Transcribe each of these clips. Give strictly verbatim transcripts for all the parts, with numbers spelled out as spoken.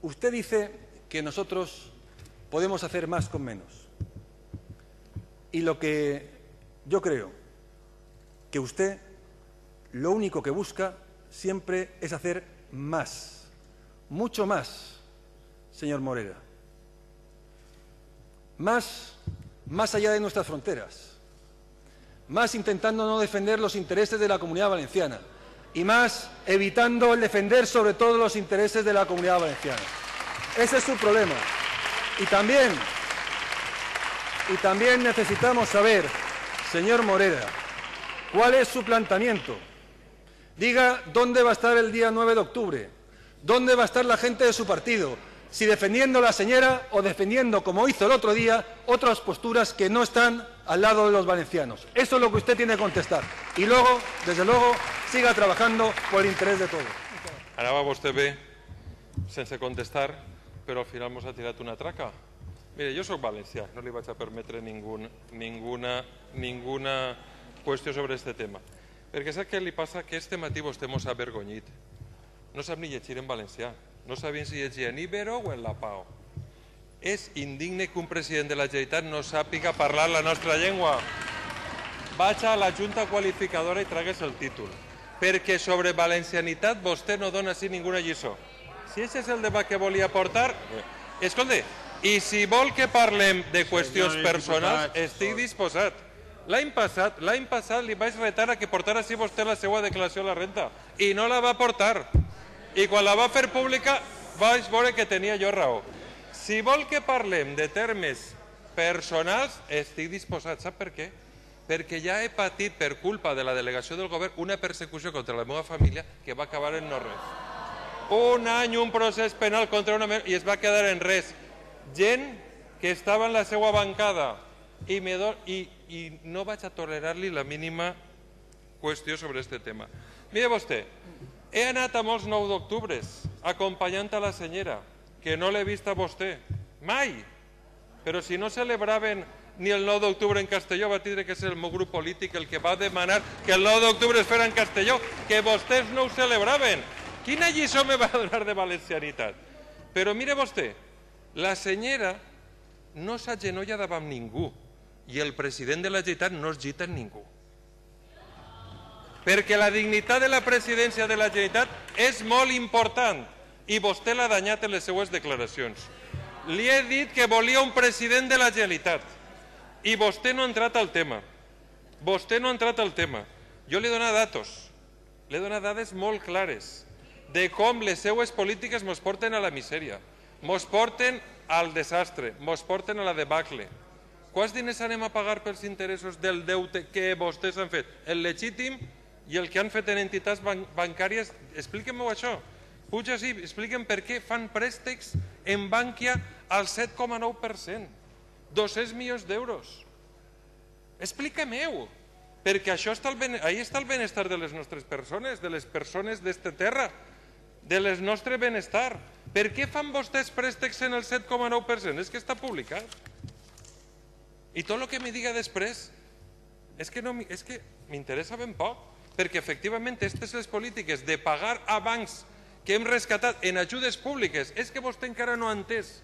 usted dice que nosotros podemos hacer más con menos. Y lo que yo creo que usted lo único que busca siempre es hacer más, mucho más, señor Morera. Más, más allá de nuestras fronteras. Más intentando no defender los intereses de la Comunidad Valenciana. Y más evitando el defender sobre todo los intereses de la Comunidad Valenciana. Ese es su problema. Y también, y también necesitamos saber, señor Morera, cuál es su planteamiento. Diga dónde va a estar el día nueve de octubre, dónde va a estar la gente de su partido, si defendiendo a la señora o defendiendo, como hizo el otro día, otras posturas que no están al lado de los valencianos. Eso es lo que usted tiene que contestar. Y luego, desde luego, siga trabajando por el interés de todos. Anava vostè bé, sense contestar, però al final mos ha tirat una traca. Mire, jo soc valencià, no li vaig a permetre ningun, ninguna, ninguna qüestió sobre aquest tema. Perquè sap què li passa? Que este matí vostè mos ha avergonyit. No sap ni llegir en valencià. No sabien si llegia en Ibero o en la Pau. És indigne que un president de la Generalitat no sàpiga parlar la nostra llengua. Vaig a la Junta Qualificadora i tragues el títol. Perquè sobre valencianitat vostè no dona així ninguna lliçó. Si aquest és el debat que volia portar... Escolta, i si vol que parlem de qüestions personals, estic disposat. L'any passat, l'any passat li vaig retar a que portara així vostè la seva declaració a la renta. I no la va portar. I quan la va fer pública vaig veure que tenia jo raó. Si vol que parlem de termes personals, estic disposat. Sap per què? Perquè ja he patit per culpa de la delegació del govern una persecució contra la meva família que va acabar en no res. Un any, un procés penal contra una... i es va quedar en res. Gent que estava en la seva bancada i, me do... I, i no vaig a tolerar-li la mínima qüestió sobre aquest tema. Mire vostè, he anat a molts nou d'octubres acompanyant a la senyora, que no l'he vist a vostè, mai. Però si no celebraven ni el nou d'octubre en Castelló, va tindre que ser el meu grup polític el que va demanar que el nou d'octubre es fera en Castelló, que vostès no ho celebraven. Quina lliçó me va donar de valencianitat? Però mire vostè, la senyora no s'agenolla davant ningú i el president de la Generalitat no es gita en ningú. Perquè la dignitat de la presidència de la Generalitat és molt important i vostè l'ha danyat en les seues declaracions. Li he dit que volia un president de la Generalitat i vostè no ha entrat al tema. Vostè no ha entrat al tema. Jo li he donat datos, li he donat dades molt clares de com les seues polítiques mos porten a la misèria, mos porten al desastre, mos porten a la debacle. Quants diners anem a pagar pels interessos del deute que vostès han fet? El legítim i el que han fet en entitats bancàries, expliquem-ho això. Puja així, expliquem per què fan préstecs en Bankia al set coma nou per cent. dos-cents milions d'euros. Expliquem-ho, perquè això està ahí està el benestar de les nostres persones, de les persones d'esta terra, de les nostre benestar. Per què fan vostès préstecs en el set coma nou per cent? És que està publicat. I tot el que me diga després és que m'interessa ben poc, perquè efectivament aquestes les polítiques de pagar a bancs que hem rescatat en ajudes públiques, és que vostè encara no ha entès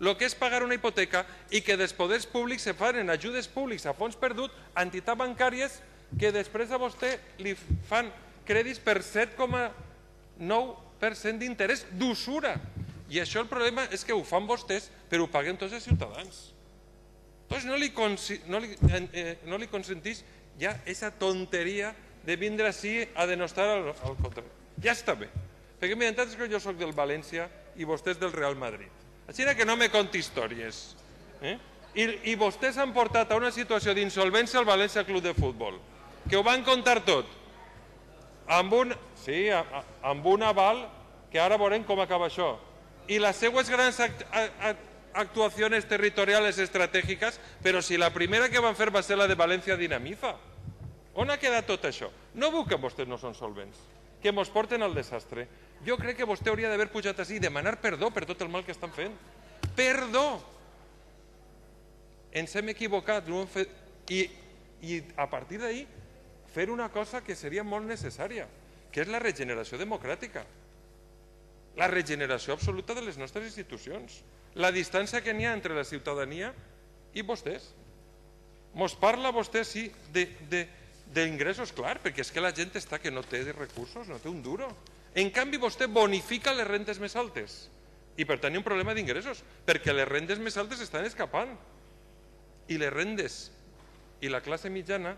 el que és pagar una hipoteca i que dels poders públics se fan en ajudes públics a fons perdut a entitats bancàries que després a vostè li fan crèdits per set coma nou per cent d'interès d'usura. I això el problema és que ho fan vostès, però ho paguen tots els ciutadans. Doncs no li, no li, eh, no li consentís ja aquesta tonteria de vindre així a denostar al, al contrari. Ja està bé. Perquè mira, és que jo soc del València i vostè és del Real Madrid. Així que no me conti històries. Eh? I, I vostès han portat a una situació d'insolvència al València Club de Futbol, que ho van contar tot, amb un, sí, amb un aval que ara veurem com acaba això. I les seues grans act actuacions territorials estratègiques, però si la primera que van fer va ser la de València Dinamiza. On ha quedat tot això? No veu que vostès no són solvents, que mos porten al desastre. Jo crec que vostè hauria d'haver pujat així i demanar perdó per tot el mal que estan fent. Perdó! Ens hem equivocat i, i a partir d'ahí fer una cosa que seria molt necessària, que és la regeneració democràtica. la regeneració absoluta de les nostres institucions, la distància que n'hi ha entre la ciutadania i vostès. Mos parla vostè, sí, d'ingressos, clar, perquè és que la gent està que no té recursos, no té un duro. En canvi, vostè bonifica les rendes més altes i per tant hi ha un problema d'ingressos, perquè les rendes més altes estan escapant i les rendes i la classe mitjana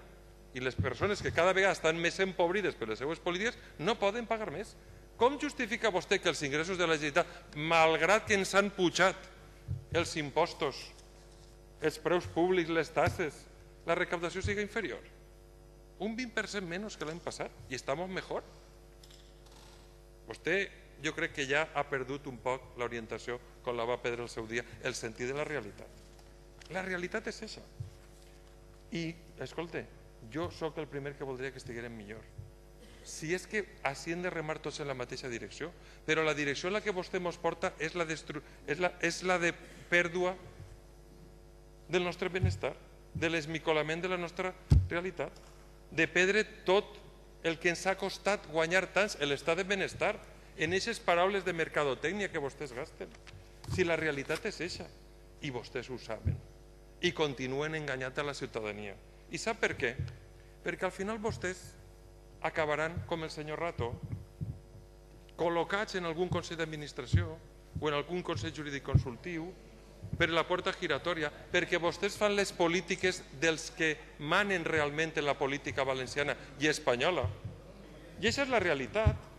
i les persones que cada vegada estan més empobrides per les seues polítiques no poden pagar més. Com justifica vostè que els ingressos de la Generalitat, malgrat que ens han pujat els impostos, els preus públics, les taxes, la recaptació sigui inferior? Un vint per cent menys que l'any passat i estem millor. Vostè, jo crec que ja ha perdut un poc l'orientació, com la va perdre el seu dia, el sentit de la realitat. La realitat és això. I, escolta, jo sóc el primer que voldria que estiguérem millor. Si és que així hem de remar tots en la mateixa direcció, però la direcció en la que vostè ens porta és la, és la, és la de pèrdua del nostre benestar, de l'esmicolament de la nostra realitat, de perdre tot el que ens ha costat guanyar tants l'estat de benestar en aquestes paraules de mercadotècnia que vostès gasten. Si la realitat és eixa, i vostès ho saben, i continuen enganyant a la ciutadania. I sap per què? Perquè al final vostès acabaran, com el senyor Rato, col·locats en algun consell d'administració o en algun consell jurídic consultiu per la porta giratòria, perquè vostès fan les polítiques dels que manen realment en la política valenciana i espanyola. I aquesta és la realitat.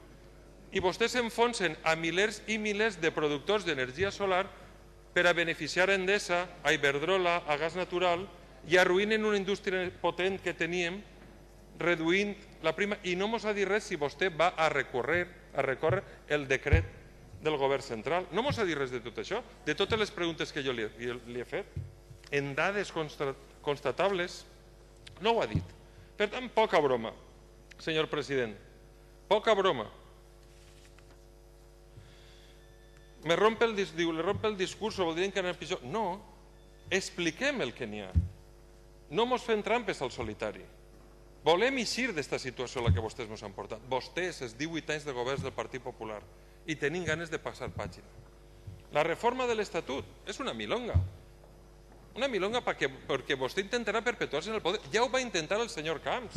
I vostès s'enfonsen a milers i milers de productors d'energia solar per a beneficiar a Endesa, a Iberdrola, a Gas Natural, i arruïnen una indústria potent que teníem, reduint la prima, i no ens ha dit res si vostè va a recórrer, a recórrer el decret del govern central. No ens ha dit res de tot això, de totes les preguntes que jo li, li he fet. En dades constatables, no ho ha dit. Per tant, poca broma, senyor president, poca broma. Me rompe el, diu, le rompe el discurs, voldrien que anés pitjor. No, expliquem el que n'hi ha. No mos fem trampes al solitari. Volem eixir d'esta situació a la que vostès ens han portat. Vostès, els divuit anys de governs del Partit Popular, i tenim ganes de passar pàgina. La reforma de l'Estatut és una milonga. Una milonga perquè, perquè vostè intentarà perpetuar-se en el poder. Ja ho va intentar el senyor Camps.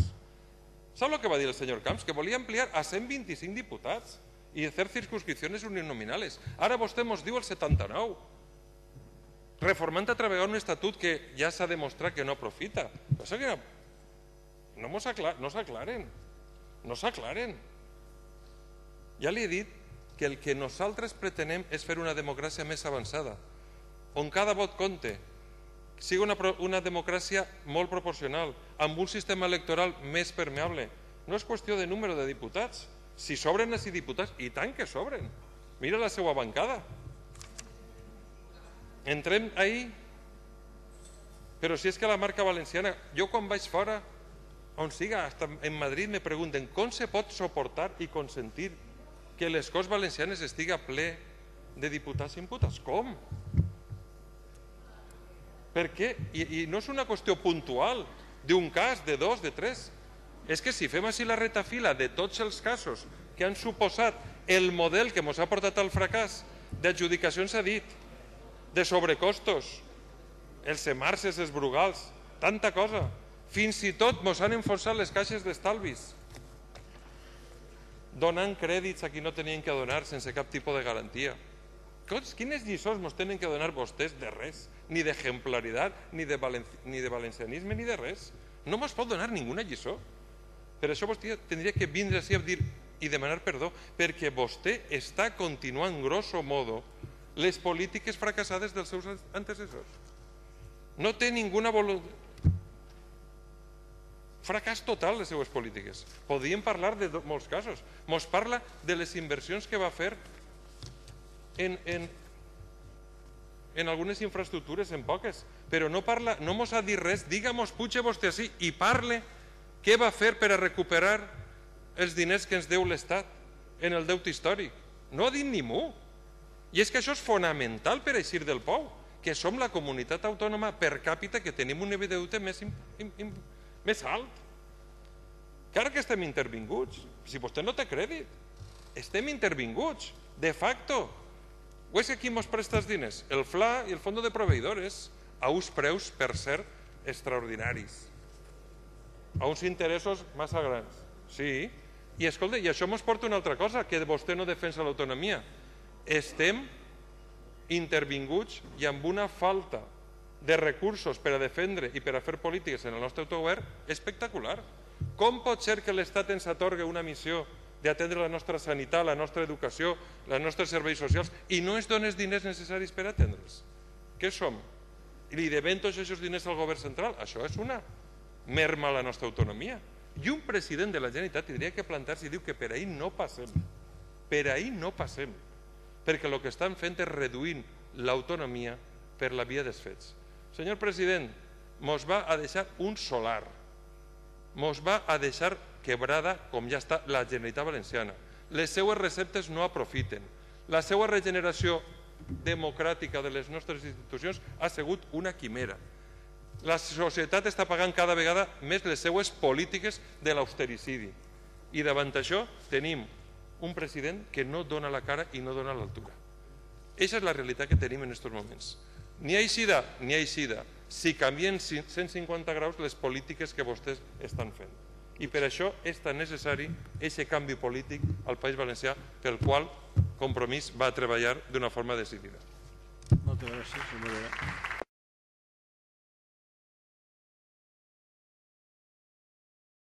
Sap el que va dir el senyor Camps? Que volia ampliar a cent vint-i-cinc diputats i fer circunscripcions uninominales. Ara vostè ens diu el setanta-nou. Reformant a través d'un estatut que ja s'ha demostrat que no aprofita. Però que no s'aclaren. No s'aclaren. Ja li he dit que el que nosaltres pretenem és fer una democràcia més avançada, on cada vot compte, sigui una, una democràcia molt proporcional, amb un sistema electoral més permeable. No és qüestió de número de diputats. Si sobren així diputats, i tant que sobren. Mira la seva bancada. Entrem ahir, però si és que la marca valenciana, jo quan vaig fora, on siga, en Madrid me pregunten com se pot suportar i consentir que les Corts Valencianes estiga ple de diputats i imputats. Com? Per què? I, i no és una qüestió puntual d'un cas, de dos, de tres. És que si fem així la retafila de tots els casos que han suposat el model que ens ha portat al fracàs d'adjudicacions a dit, de sobrecostos, els semarses, els brugals, tanta cosa. Fins i tot ens han enfonsat les caixes d'estalvis, donant crèdits a qui no tenien que donar sense cap tipus de garantia. Quines lliçons ens tenen que donar vostès de res? Ni d'exemplaritat, ni de valencianisme, ni de res. No ens pot donar ninguna lliçó. Per això vostè tindria que vindre així a dir i demanar perdó, perquè vostè està continuant, grosso modo, les polítiques fracassades dels seus antecessors. No té ninguna voluntat. Fracàs total les seues polítiques. Podríem parlar de molts casos. Ens parla de les inversions que va fer en, en, en algunes infraestructures, en poques, però no parla, no ens ha dit res. Digue-mos, puja vostè així i parle què va fer per a recuperar els diners que ens deu l'Estat en el deute històric. No ha dit ni mu. I és que això és fonamental per eixir del pou, que som la comunitat autònoma per càpita que tenim un nivell de deute més important, més alt. Encara que estem intervinguts, si vostè no té crèdit. estem intervinguts, de facto. O és que qui ens presta els diners? El F L A i el Fondo de Proveïdores, a uns preus, per cert, extraordinaris, a uns interessos massa grans. Sí, i escolta, i això ens porta una altra cosa, que vostè no defensa l'autonomia. Estem intervinguts i amb una falta de recursos per a defendre i per a fer polítiques en el nostre autogovern espectacular. Com pot ser que l'Estat ens atorgui una missió d'atendre la nostra sanitat, la nostra educació, els nostres serveis socials i no ens doni els diners necessaris per atendre'ls? Què som? I li devem tots aquests diners al govern central? Això és una merma a la nostra autonomia. I un president de la Generalitat tindria que plantar-se i dir que per ahí no passem. Per ahí no passem. Perquè el que estan fent és reduint l'autonomia per la via dels fets. Senyor president, mos va a deixar un solar. Mos va a deixar quebrada, com ja està, la Generalitat Valenciana. Les seues receptes no aprofiten. La seva regeneració democràtica de les nostres institucions ha sigut una quimera. La societat està pagant cada vegada més les seues polítiques de l'austericidi. I davant això tenim un president que no dona la cara i no dona l'altura. Aquesta és la realitat que tenim en aquests moments. Ni aixida, ni aixida, si canvien cent cinquanta graus les polítiques que vostès estan fent. I per això és tan necessari aquest canvi polític al País Valencià, pel qual Compromís va treballar d'una forma decidida. Moltes gràcies, senyor.